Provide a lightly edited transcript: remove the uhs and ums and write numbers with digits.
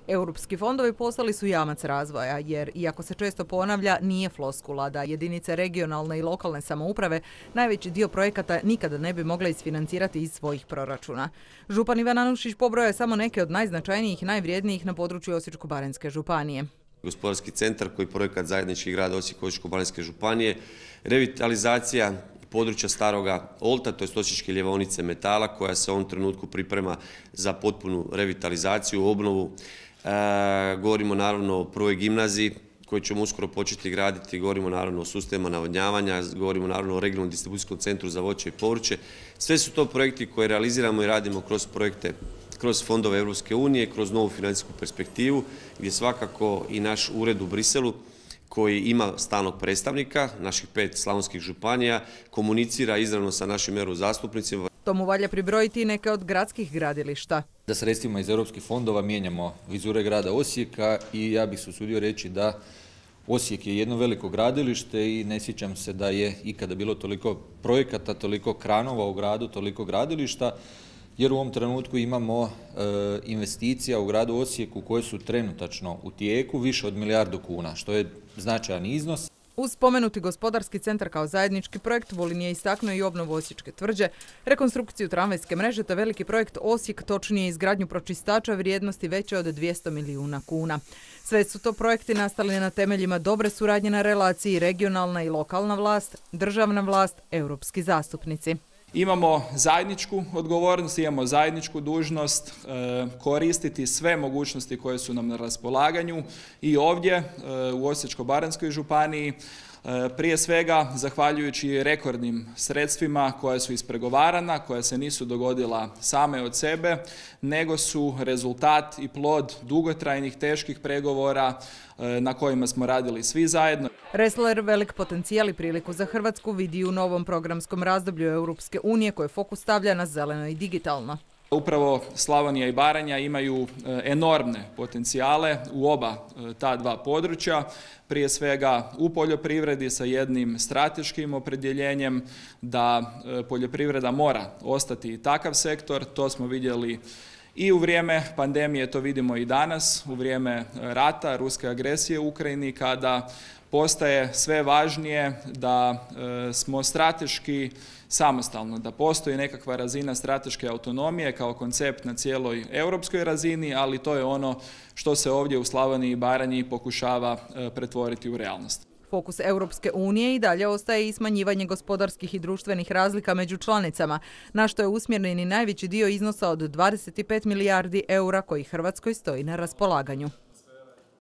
Europski fondovi postali su jamac razvoja, jer, iako se često ponavlja, nije floskula da jedinice regionalne i lokalne samouprave najveći dio projekata nikada ne bi mogle isfinancirati iz svojih proračuna. Župan Ivan Anušić pobroja je samo neke od najznačajnijih i najvrijednijih na području Osječko-baranjske županije. Gospodarski centar koji je projekat zajednički grada Osijeka i Osječko-baranjske županije, revitalizacija područja Staroga Olta, to je Osječke ljevaonice metala koja se u ovom trenutku priprema za potpunu revitalizaciju, obnovu. Govorimo naravno o prvoj gimnaziji koju ćemo uskoro početi graditi, govorimo naravno o sustavima navodnjavanja, govorimo naravno o regionalnom distribucijskom centru za voće i povrće. Sve su to projekti koje realiziramo i radimo kroz projekte, kroz fondove Europske unije, kroz novu financijsku perspektivu, gdje svakako i naš ured u Briselu koji ima stalnog predstavnika, naših 5 slavonskih županija, komunicira izravno sa našim eurozastupnicima. Tomu valja pribrojiti i neke od gradskih gradilišta. Da sredstvima iz europskih fondova mijenjamo vizure grada Osijeka i ja bih se usudio reći da Osijek je jedno veliko gradilište i ne sjećam se da je ikada bilo toliko projekata, toliko kranova u gradu, toliko gradilišta, jer u ovom trenutku imamo investicija u gradu Osijeku koje su trenutačno u tijeku više od milijardu kuna, što je značajan iznos. Uz spomenuti gospodarski centar kao zajednički projekt, Vulin je istaknuo i obnovu Osječke tvrđe, rekonstrukciju tramvajske mreže te veliki projekt Osijek, točnije izgradnju pročistača vrijednosti veće od 200 milijuna kuna. Sve su to projekti nastali na temeljima dobre suradnje na relaciji regionalna i lokalna vlast, državna vlast, europski zastupnici. Imamo zajedničku odgovornost, imamo zajedničku dužnost koristiti sve mogućnosti koje su nam na raspolaganju i ovdje u Osječko-baranjskoj županiji, prije svega zahvaljujući rekordnim sredstvima koja su ispregovarana, koja se nisu dogodila same od sebe, nego su rezultat i plod dugotrajnih, teških pregovora na kojima smo radili svi zajedno. Ressler velik potencijal i priliku za Hrvatsku vidi u novom programskom razdoblju Europske unije koje fokus stavlja na zeleno i digitalno. Upravo Slavonija i Baranja imaju enormne potencijale u oba ta dva područja, prije svega u poljoprivredi sa jednim strateškim opredjeljenjem da poljoprivreda mora ostati takav sektor, to smo vidjeli i u vrijeme pandemije, to vidimo i danas, u vrijeme rata, ruske agresije u Ukrajini, kada postaje sve važnije da smo strateški samostalno, da postoji nekakva razina strateške autonomije kao koncept na cijeloj europskoj razini, ali to je ono što se ovdje u Slavoniji i Baranji pokušava pretvoriti u realnost. Fokus Europske unije i dalje ostaje i smanjivanje gospodarskih i društvenih razlika među članicama, na što je usmjeren i najveći dio iznosa od 25 milijardi eura koji Hrvatskoj stoji na raspolaganju.